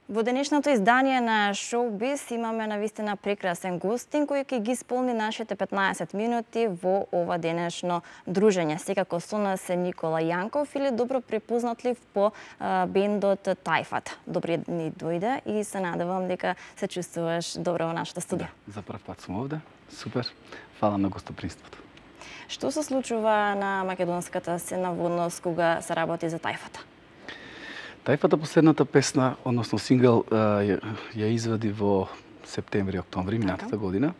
Во денешното издание на Шоубиз имаме навистина прекрасен гостин кој ќе ги исполни нашите 15 минути во ова денешно дружење. Секако со нас е Никола Јанков или добро препознатлив по бендот Тајфат. Добри дни дојде и се надевам дека се чувствуваш добро во нашата студија. Да, за прв пат сум овде. Супер. Фала на гостопримството. Што се случува на македонската сцена во однос кога се работи за Тајфата? Тајфата последната песна, односно сингл, ја извади во септември-октомври минатата година.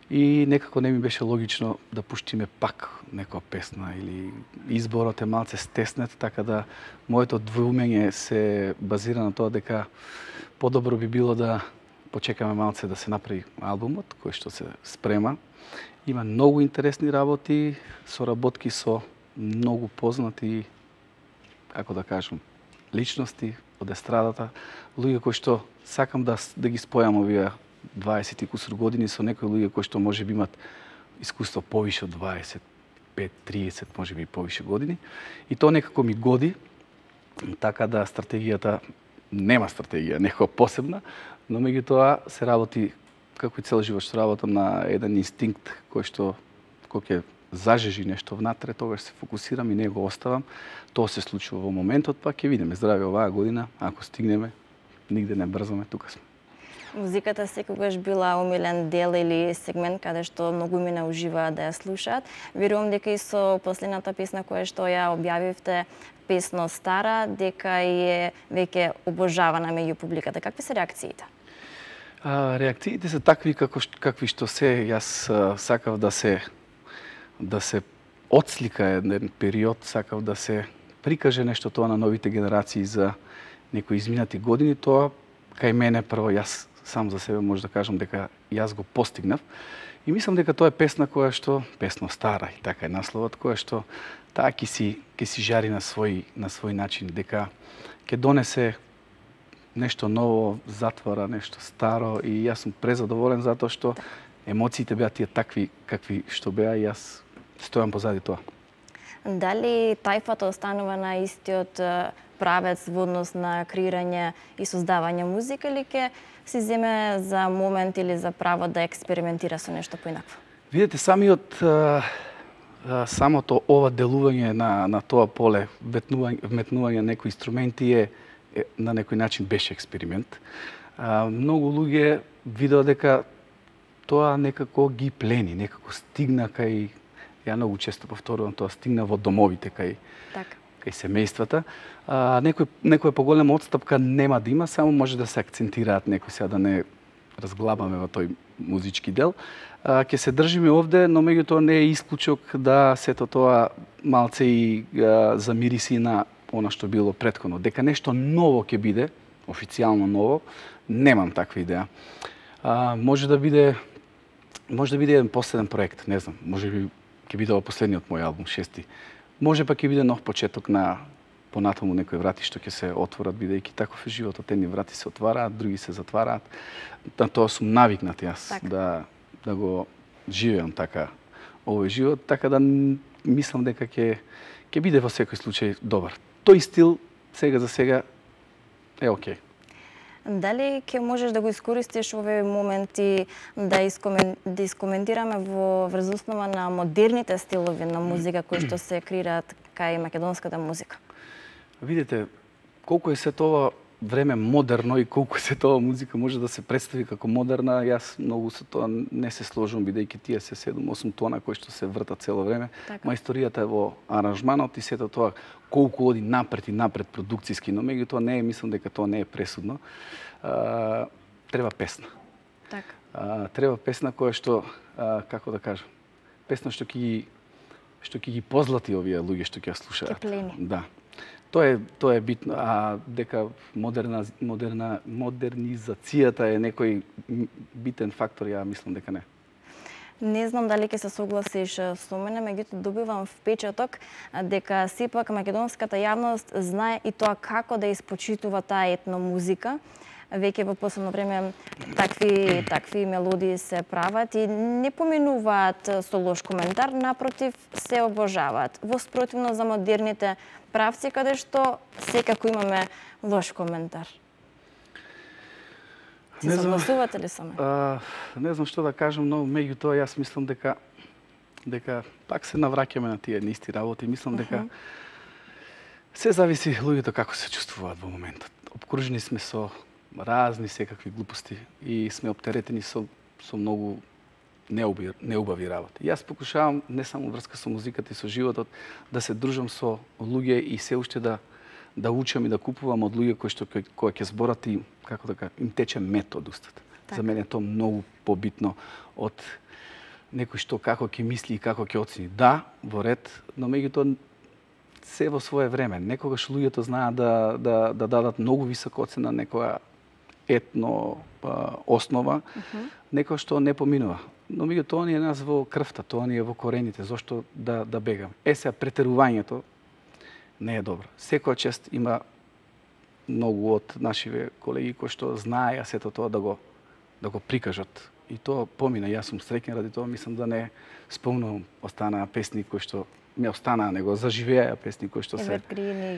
И некако не ми беше логично да пуштиме пак некоја песна или изборот е малце стеснет, така да моето двоумење се базира на тоа дека подобро би било да почекаме малце да се направи албумот кој што се спрема. Има многу интересни работи, соработки со многу познати, како да кажам, личности од естрадата, луѓе кои што сакам да ги спојам овие 20 и кусур години со некои луѓе кои што може би имат искуство повише од 25, 30, може би повише години. И тоа некако ми годи, така да стратегијата нема стратегија, некоја посебна, но меѓутоа се работи како и цел живот што работам на еден инстинкт кој што кој ќе зажежи нешто внатре, тогаш се фокусирам и не го оставам. Тоа се случува во моментот, па ќе видиме здрави оваа година, ако стигнеме, нигде не брзаме, тука сме. Музиката секогаш била омилен дел или сегмент каде што многу мина уживаат да ја слушаат. Верувам дека и со последната песна која што ја објавивте, песно Стара, дека е веќе обожавана меѓу публиката. Какви се реакциите? Реакциите се такви какви што се. Јас сакав да се отслика еден период, сакав да се прикаже нешто тоа на новите генерации за некои изминати години. Тоа кај мене прво, јас сам за себе може да кажам дека јас го постигнав. И мислам дека тоа е песна која што, песно Стара, и така е насловот, која што таа ќе си жари на свој начин, дека ќе донесе нешто ново, затвора нешто старо, и јас сум презадоволен затоа што емоциите беа тие такви какви што беа и јас стојам позади тоа. Дали Тајфата останува на истиот правец во однос на креирање и создавање музика или ќе си земе за момент или за право да експериментира со нешто поинакво? Видете, самото ова делување на тоа поле, вметнување некои инструменти е на некој начин беше експеримент. Многу луѓе видеа дека тоа некако ги плени, некако стигна кај, ја многу често повторувам тоа, стигна во домовите кај семејствата. Некоја поголема отстапка нема да има, само може да се акцентираат некои, сега да не разглабаме во тој музички дел. Ќе се држиме овде, но меѓутоа не е исклучок да сето тоа малце и замириси на она што било претходно. Дека нешто ново ќе биде, официјално ново, немам таква идеја. Може да биде еден последен проект, не знам, може би ќе биде ова последниот мој албум, 6-ти. Може па ќе биде нов почеток на понатаму некои врати што ќе се отворат, бидејќи таков е животот, едни врати се отвараат, други се затвараат. На тоа сум навикнат јас да го живеам така овој живот, така да мислам дека ќе биде во секој случај добар. Тој стил сега за сега е окей. Дали ќе можеш да го искористиш овие моменти да искоментираме во врз основа на модерните стилови на музика кои што се креираат кај македонската музика? Видите, колку е се тоа време модерно и колку се тоа музика може да се представи како модерна, јас многу со тоа не се сложувам, бидејќи тие се 7-8 тона кои што се вртат цело време. Мајсторијата е во аранжманот и сето тоа колку оди напред и напред продукциски, но меѓутоа не е, мислам дека тоа не е пресудно. Треба песна. Треба песна која што, како да кажам, песна што ќе ги позлати овие луѓе што ќе ја слушаат. Ќе плени. Да. Тоа е битно, а дека модернизацијата е некој битен фактор, ја мислам дека не. Не знам дали ќе се согласиш со мене, меѓутоа добивам впечаток дека сепак македонската јавност знае и тоа како да испочитува таа етно музика. Веќе во последно време такви мелодии се прават и не поминуваат со лош коментар, напротив се обожаваат. Во спротивно за модерните правци каде што секако имаме лош коментар. Си согласувате ли со мене? Не знам што да кажам, но меѓутоа јас мислам дека пак се навраќаме на тие исти работи. Мислам дека се зависи луѓето како се чувствуваат во моментот. Обкружени сме со разни секакви глупости и сме оптеретени со многу неубави работи. Јас покушавам не само врска со музиката и со животот да се дружам со луѓе и се уште да учам и да купувам од луѓе кои ќе зборат и како да им тече мет од устата. За мене е тоа многу побитно од некој што како ќе мисли и како ќе оцени. Да, во ред, но меѓутоа се во свое време. Некогаш луѓето знаат да дадат многу висока оцена некоја етно основа, некој што не поминува. Но меѓутоа тоа ни е нас во крвта, тоа ни е во корените, зошто да бегам. Сега претерувањето не е добро. Секоја чест има многу од нашиве колеги кои што знаеја сето тоа да го прикажат. И тоа помина, јас сум среќен ради тоа, мислам да не спомнувам останаа песни кои што ми останаа, него заживеа песни кои што се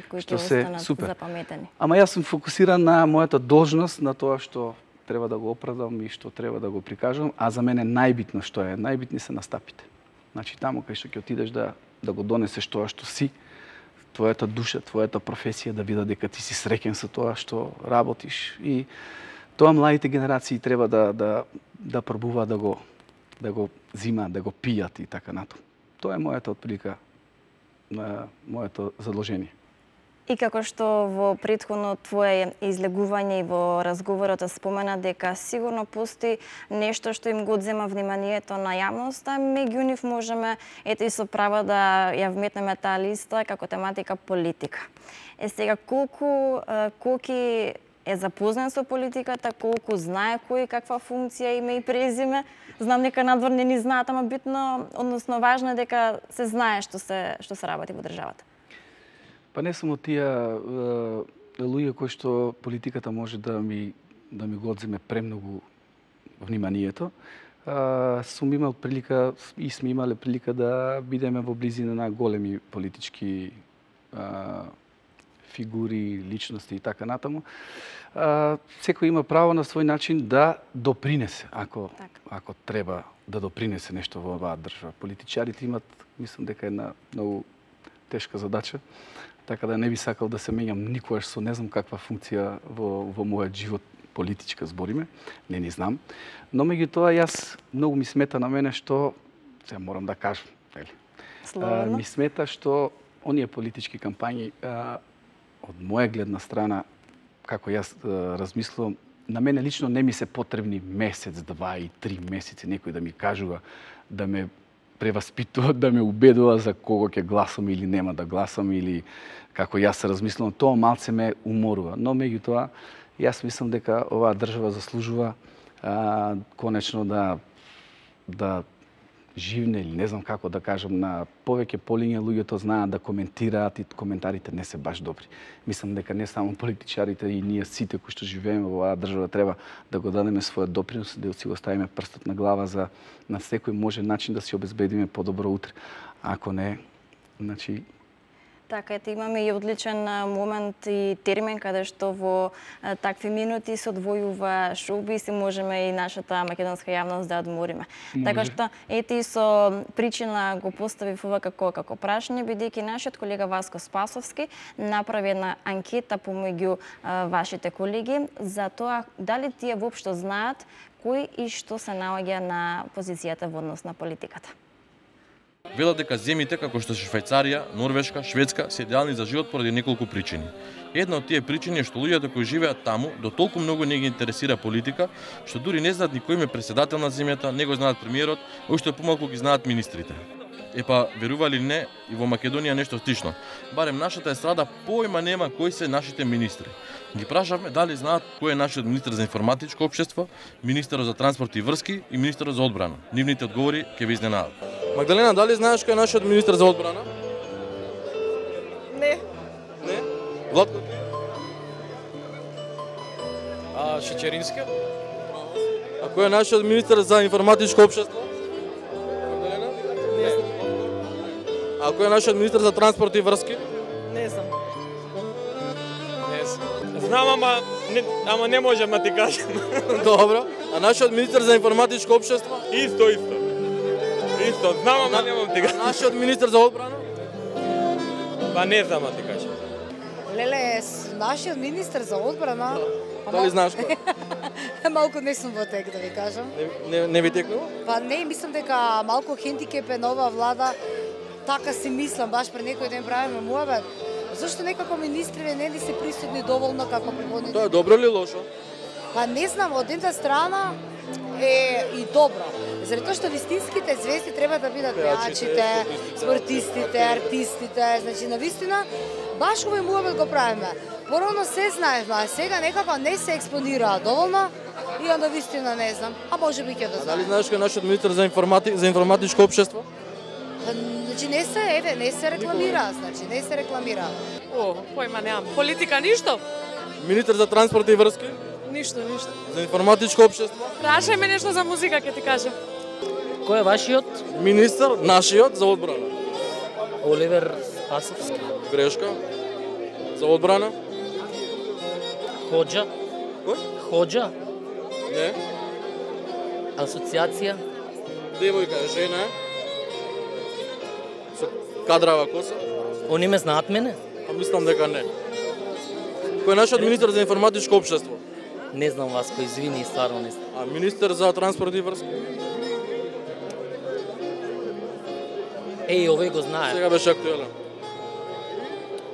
кои ќе останат запаметени. Ама јас сум фокусиран на мојата должност, на тоа што треба да го оправдам и што треба да го прикажам, а за мене најбитно што е, најбитни се настапите. Значи таму кај што ќе отидеш да го донесеш тоа што си, твојата душа, твојата професија, да видат дека ти си среќен со тоа што работиш. И тоа младите генерации треба да пробуваат да го зимаат, да го пијат и така натаму. Тоа е мојата отприлика, моето задолжение. И како што во претходно твое излегување и во разговорот спомена дека сигурно постои нешто што им го одзема вниманието на јавноста, меѓу нив можеме ето и со право да ја вметнеме таа листа како тематика политика. Сега колку е запознат со политиката, колку знае кој каква функција има и презиме. Знам дека надвор не ни знаат, ама битно, односно важно е дека се знае што се работи во државата. Па не само тие луѓе кои што политиката може да ми го одземе премногу вниманието. Сум имал прилика и сме имале прилика да бидеме во близина на големи политички фигури, личности и така натаму. Секој има право на свој начин да допринесе, ако треба да допринесе нешто во оваа држава. Политичарите имат, мислам дека една многу тешка задача, така да не би сакал да се меѓам никогаш со не знам каква функција во мојот живот политичка збориме, не ни знам. Но меѓутоа јас многу ми смета на мене што, сега морам да кажам, ми смета што оние политички кампањи од моја гледна страна, како јас размислувам, на мене лично не ми се потребни месец, 2 и 3 месеци некој да ми кажува, да ме преваспитува, да ме убедува за кого ќе гласам или нема да гласам, или како јас се размислувам, тоа малце ме уморува. Но меѓутоа, јас мислам дека оваа држава заслужува конечно да живне, или не знам како да кажам, на повеќе полиња луѓето знаат да коментираат и коментарите не се баш добри. Мислам дека не само политичарите и ние сите кои што живееме во оваа држава треба да го дадеме својот допринос, да си го ставиме прстот на глава за на секој може начин да си обезбедиме подобро утре. Ако не, значи Така, ете имаме и одличен момент и термин каде што во такви минути се одвојува шоубиз и можеме и нашата македонска јавност да одмориме. Така што ете и со причина го поставив ова како прашање, бидејќи нашиот колега Васко Спасовски направи една анкета помеѓу вашите колеги за тоа дали тие воопшто знаат кој и што се наоѓа на позицијата во однос на политиката. Велат дека земјите како што се Швајцарија, Норвешка, Шведска се идеални за живот поради неколку причини. Една од тие причини е што луѓето кои живеат таму до толку многу не ги интересира политика, што дури не знаат ни кој е претседател на земјата, не го знаат премиерот, уште помалку ги знаат министрите. Епа, верували или не, и во Македонија нешто слично. Барем нашата естрада појма нема кои се нашите министри. Ги прашавме дали знаат кој е нашиот министер за информатичко општество, министерот за транспорт и врски и министерот за одбрана. Нивните одговори ќе ви изненадат. Магдалена, дали знаеш кој е нашиот министер за одбрана? Не. Не? Владко? Шечерински? А кој е нашиот министер за информатичко општество? А кој е нашиот министер за транспорт и врски? Не знам. Знам, ама не можам да ти кажам. Добро. А нашиот министер за информатичко општество? Исто. Исто, знам, ама не можам ти кажам. Нашиот министер за одбрана? Па не знам да ти кажам. Леле, нашиот министер за одбрана... Дали знаеш кој? Малку не сум во тек, да ви кажам. Не ви текнува? Па не, мислам дека малку хендикеп е нова влада. Така си мислам, баш пред некој ден правиме муабет. Зашто некако министриве не ли се присутни доволно како предходните? Тоа е добро или лошо? Па не знам, од една страна е и добро. Заради тоа што вистинските звезди треба да бидат пеачите, спортистите, артистите, значи навистина баш овој муабет го правиме. Порано се знаевме, а сега некако не се експонираа доволно и onda вистина не знам, а може би ќе да знам. Дали знаеш кој е нашиот министер за информатичко општество? Значи не се рекламира, значи не се рекламира. О, појма немам. Политика ништо? Министер за транспорт и врски? Ништо. За информатичко општество? Прашај ме нешто за музика, ќе ти кажам. Кој е вашиот? Министер, нашиот за одбрана. Оливер Спасовски. Грешка. За одбрана? Ходжа. Кој? Ходжа. Не. Асоциација. Девојка е жена. Со кадрава коса? Они ме знаат мене? А мислам дека не. Кој е нашиот министер за информатичко општество? Не знам Васко, извини, стварно не знам. А министер за транспорт и врски? Еј, овој го знае. Сега беше актуелен.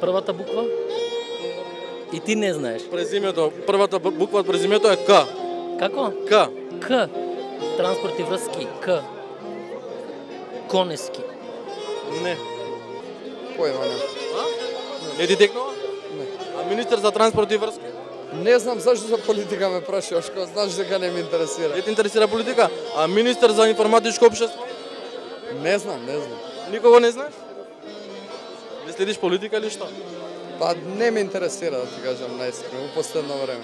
Првата буква? И ти не знаеш. Презимето, првата буква од презимето е К. Како? К. К. Транспорт и врски. К. Конески. Не. Појма не. Не ти текнува? Не. А министер за транспорт и врски? Не знам зашто за политика ме прашуваш, кога знаеш дека не ме интересира. Не ти интересира политика? А министер за информатичко општество? Не знам. Никого не знаеш? Не следиш политика или што? Па не ме интересира, да ти кажам наискрено, во последно време.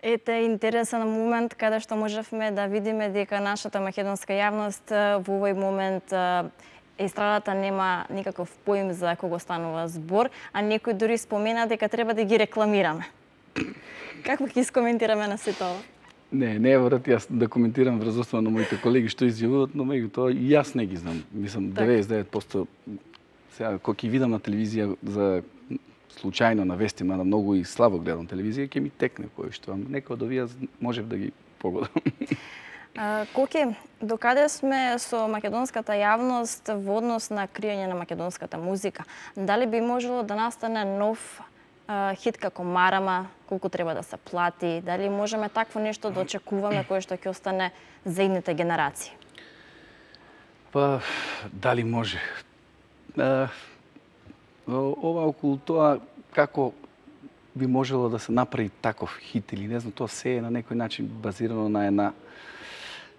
Ете интересен момент каде што можевме да видиме дека нашата македонска јавност во овој момент естрадата нема никаков поим за кого станува збор, а некој дури спомена дека треба да ги рекламираме. Како ќе искоментираме на сето ова? Не е врат јас да коментирам врз основа на моите колеги што изјавуваат, но меѓутоа и јас не ги знам. Мислам 99% сега кога ќе видам на телевизија за случајно на вести, мада многу и слабо гледам телевизија, ќе ми текне кој што, некој од овие можев да ги погодам. Коки, докаде сме со македонската јавност во однос на криење на македонската музика? Дали би можело да настане нов хит како Марама, колку треба да се плати? Дали можеме такво нешто да очекуваме кое што ќе остане за идните генерации? Па, дали може? Ова околу тоа како би можело да се направи таков хит или не знам, тоа се е на некој начин базирано на една,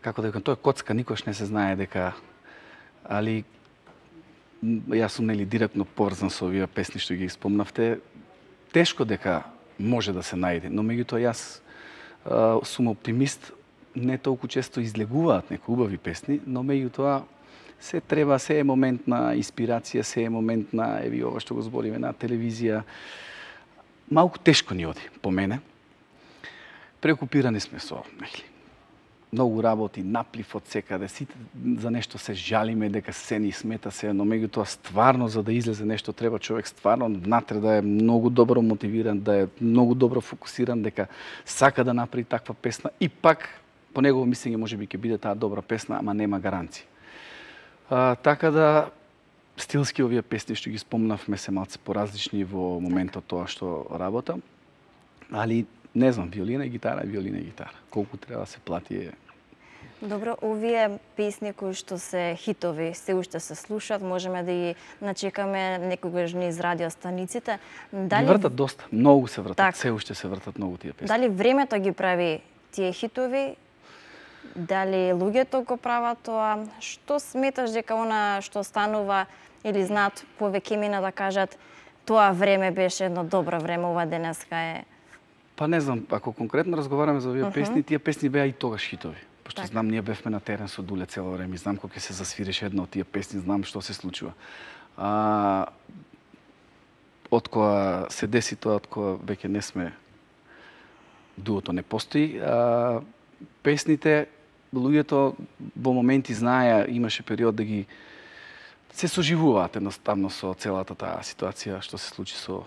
како да кажам, тоа е коцка, никош не се знае дека, али јас сум нели директно поврзан со овие песни што ги спомнавте, тешко дека може да се најде, но меѓутоа јас сум оптимист, не толку често излегуваат некои убави песни, но меѓутоа се треба, се е момент на инспирација, се е момент на, еви ова што го збориме на телевизија. Малку тешко ни оди, по мене. Преокупирани сме со, многу работи, наплив од секаде, сите за нешто се жалиме дека се ни смета се, но меѓутоа стварно за да излезе нешто треба човек стварно внатре да е многу добро мотивиран, да е многу добро фокусиран, дека сака да направи таква песна и пак по негово мислење можеби ќе биде таа добра песна, ама нема гаранција. Така да стилски овие песни што ги спомнавме се малце поразлични во моментот тоа што работам, али не знам, виолина и гитара. Колку треба да се плати е. Добро, овие песни кои што се хитови, се уште се слушаат, можеме да ги начекаме некогаш низ радиостаниците. Дали ги вртат доста, многу се вртат, так, се уште се вртат многу тие песни. Дали времето ги прави тие хитови? Дали луѓето го прават тоа? Што сметаш дека она што станува или знаат повеќе мина да кажат тоа време беше едно добро време, ова денеска е? Па не знам, ако конкретно разговараме за овие песни, тие песни беа и тогаш хитови. Пошто знам, ние бевме на терен со Дуле цело време, знам кога ќе се засвиреше една од тие песни, знам што се случува. откоја се деси тоа, откоја веќе не сме, дуото не постои, песните, луѓето во моменти знаеа, имаше период да ги се соживуваат едноставно со целата таа ситуација што се случи со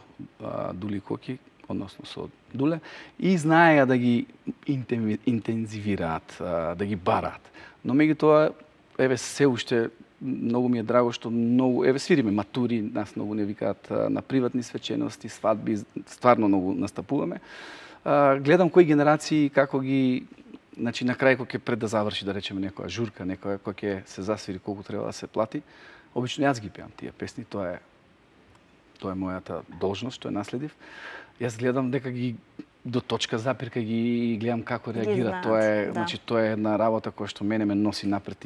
Дули Коки, односно со Дуле, и знаеа да ги интензивираат, да ги бараат. Но меѓутоа, еве се уште многу ми е драго што многу, еве свириме матури, нас многу не викаат на приватни свечености, свадби, стварно многу настапуваме. Гледам кои генерации како ги, значи на крај кога ќе пред да заврши, да речеме, некоја журка, некоја кога ќе се засвири колку треба да се плати, обично јас ги пеам тие песни, тоа е мојата должност што е наследив. Јас гледам дека ги до точка запирка ги гледам како реагираат. Тоа е, значи тоа е една работа која што мене ме носи напред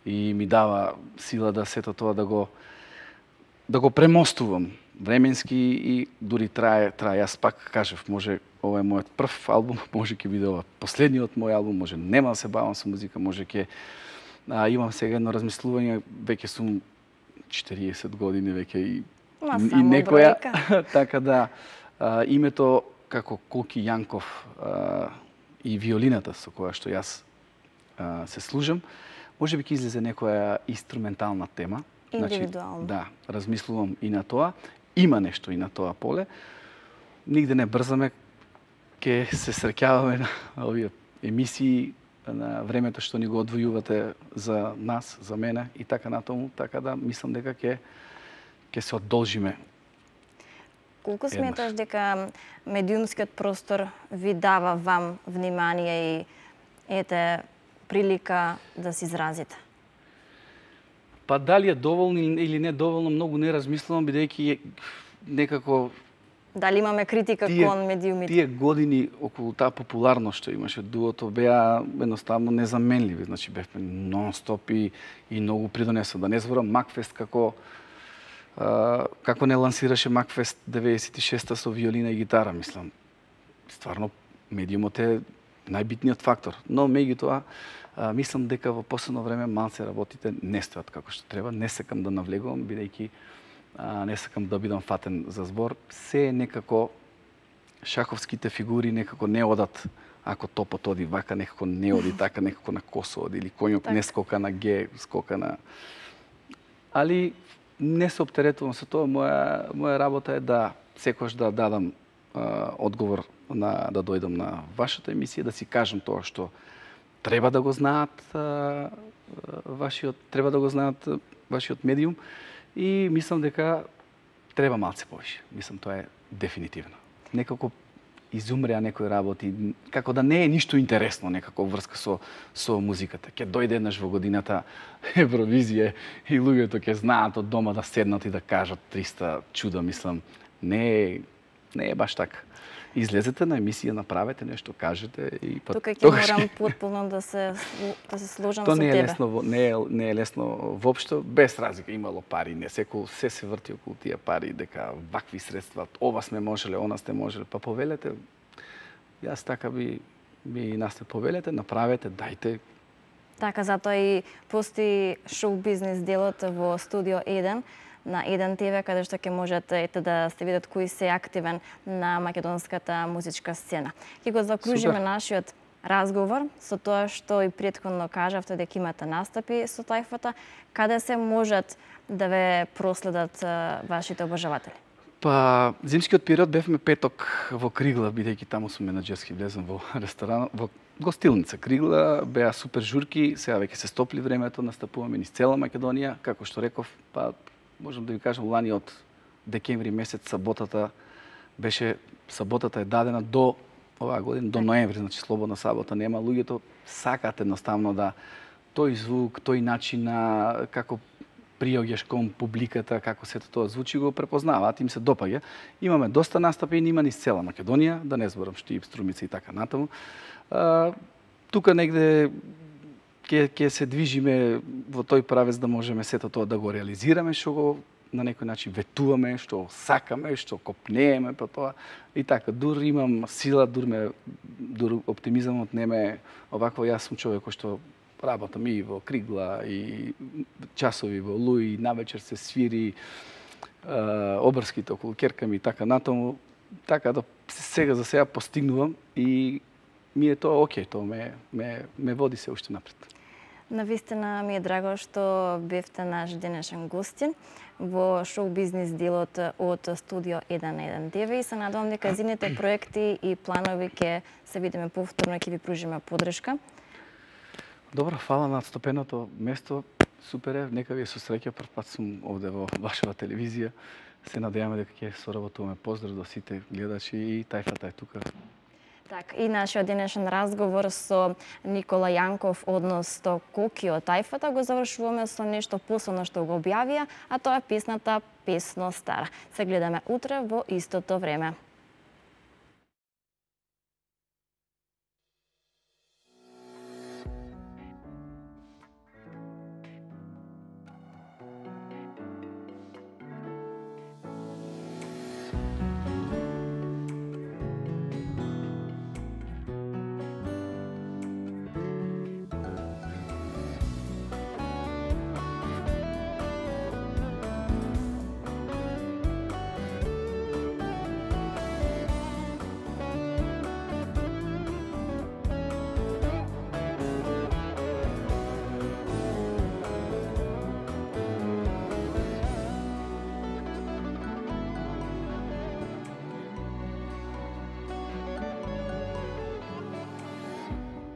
и ми дава сила да сето тоа да го премостувам временски и дури трае, јас пак кажав, може ова е мојот прв албум, може ќе биде ова последниот мој албум, може нема да се бавам со музика, може ќе имам сега едно размислување, веќе сум 40 години веќе и некоја, така да името како Коки Јанков и виолината со која што јас се служам, може би ќе излезе некоја инструментална тема. Индивидуално. Значи, да, размислувам и на тоа. Има нешто и на тоа поле. Нигде не брзаме, ќе се среќаваме на овие емисии, на времето што ни го одвојувате за нас, за мене и така натаму, така да мислам дека ќе се одолжиме. Колку сметаш дека медиумскиот простор ви дава вам внимание и прилика да се изразите? Па дали е доволно или не доволно, многу не размислувам, бидејќи некако... Дали имаме критика кон медиумите? Тие години околу таа популарност што имаше дуото беа едноставно незаменливи. Значи бевме нон-стоп и многу придонесо. Да не зборам Макфест како не лансираше Макфест 96-та со виолина и гитара, мислам. Стварно медиумот е најбитниот фактор. Но меѓутоа мислам дека во последно време малце работите не стојат како што треба. Не сакам да навлегувам, бидејќи не сакам да бидам фатен за збор. Се некако шаховските фигури некако не одат, ако топот оди вака, некако не оди така, некако на косо оди, или коњот не скока на Г, скока на... Али не се оптеретувам со тоа. Моја работа е да секојаш да дадам одговор да дојдам на вашата емисија, да си кажам тоа што треба да го знаат вашиот медиум, и мислам дека треба малце повише. Мислам тоа е дефинитивно. Некако изумреа некои работи, како да не е ништо интересно некако врска со музиката. Ќе дојде еднаш во годината Евровизија и луѓето ќе знаат од дома да седнат и да кажат 300 чуда, мислам. Не е баш така. Излезете на емисија, направете нешто, кажете и па тука ќе морам потполно да се сложам со тебе. Тоа не е лесно воопшто, без разлика. Имало пари, не се врти околу тие пари, дека вакви средства, ова сме можеле, она сте можеле, па повелете. Јас така би нас повелете, направете, дајте. Така, затоа и постои шоу бизнес делот во Студио 1 на 1 ТВ, каде што ќе можете да се видат кои се активен на македонската музичка сцена. Ќе го закружиме нашиот разговор со тоа што и претходно кажавте дека имате настапи со тајфата. Каде се можат да ве проследат вашите обожаватели? Па, зимскиот период бевме петок во Кригла, бидејќи таму сум менаџерски влезен во ресторан, во гостилница Кригла, беа супер журки, сега веќе се стопли времето, настапуваме низ цела Македонија, како што реков, па можам да ви кажам, лани од декември месец саботата е дадена до оваа година, до ноември, значи слободна сабота нема. Луѓето сакаат едноставно да тој звук, тој начин на како приоѓаш кон публиката, како сето тоа звучи, го препознаваат, им се допаѓа. Имаме доста настапи и нима низ цела Македонија, да не зборам Штип, Струмица и така натаму. Тука негде ќе се движиме во тој правец да можеме сето тоа да го реализираме, што го на некој начин ветуваме, што сакаме, што копнееме по тоа. И така, дур имам сила, дур оптимизамот не ме овакво. Јас сум човек кој што работам и во Кригла, и часови во Луи, навечер се свири, обрските околу ќерка ми и така натаму, така да сега за сега постигнувам и ми е тоа окей, тоа ме води се уште напред. Навистина ми е драго што бевте наш денешен гостин во шоу-бизнис делот од Студио 119 и се надевам дека зимните проекти и планови ќе се видиме повторно и ќе ви пружиме подршка. Добро, фала на отстопеното место. Супер е, нека ви со среќа, прв пат сум овде во вашава телевизија. Се надеваме дека ќе соработуваме. Поздрав до сите гледачи и тајфата е тука. Так, и нашиот денешен разговор со Никола Јанков, односно Коки од тајфата, го завршуваме со нешто посебно што го објавија, а тоа е песната Песно стара. Се гледаме утре во истото време.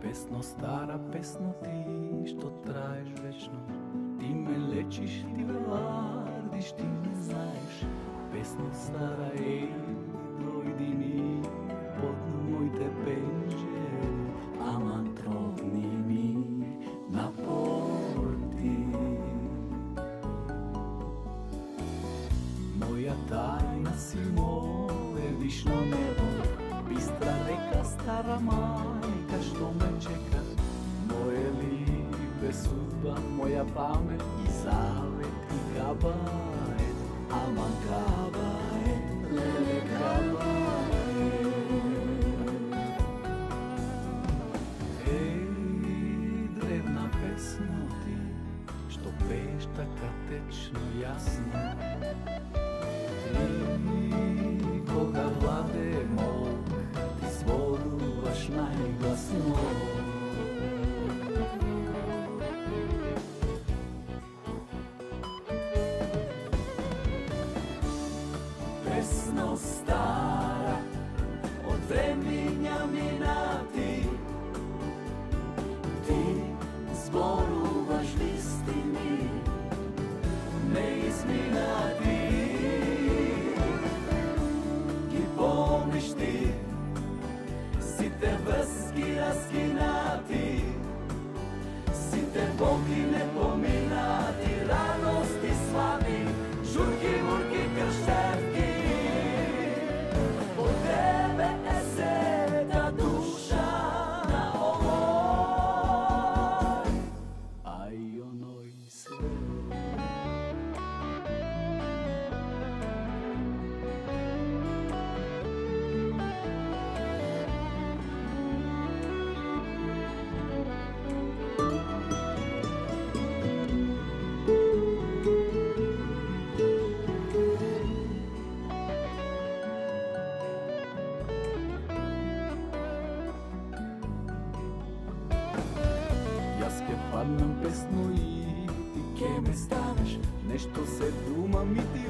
Песно стара, песно ти, што траеш вечно. Ти ме лечиш, ти ме вардиш, ти ме знаеш. Песно стара, еј, дојди ми под моите пенџери, ама тропни ми на порти. Моја тајна си моје вишно небо, бистра река, стара мајка што ме чека. Моје либе судба, моја памет и завет и кабает, аман кабает, леле кабает. Еј, древна песна ти, што пееш така течно јасно. И кога владе мог, ти зборуваш најгласно. Песно стара, од времиња минати, ти зборуваш вистини, неизминати. Ги помниш ти сите врски раскинати, сите боки непоминати, радости, слави, журки, мурки, крштевки. Од тебе е сета душа на овој, а и оној свет. Јас ке паднам песно и ти ке ме ставиш, нешто се думам и ти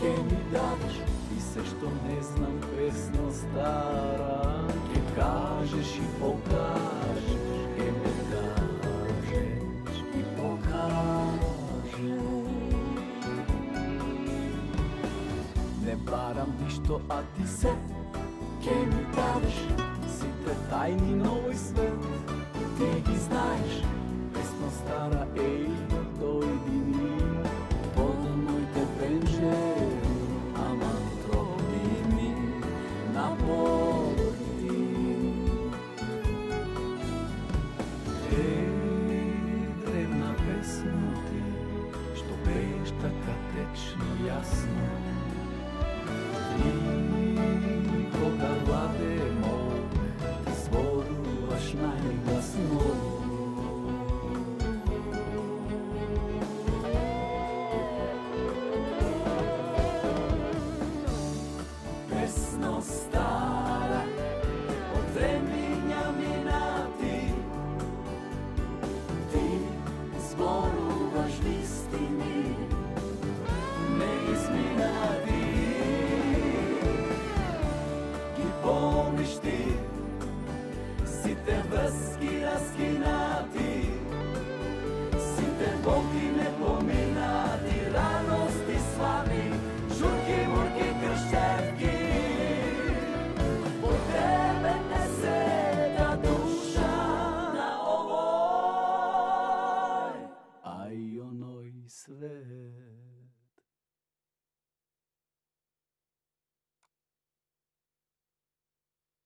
ке ми дадеш, и се што не знам песно стара, ке кажеш и покажеш, ке ме кажеш и покажеш. Не барам ништо, а ти се ке ми дадеш, сите тајни на овој свет, ти ги знаеш. Песно стара, еј, дојди ми под моите пенџери, ама тропни ми на порти. Еј, древна песна ти, што пееш така течно јасно. И кога владе мог, ти зборуваш најгласно. збор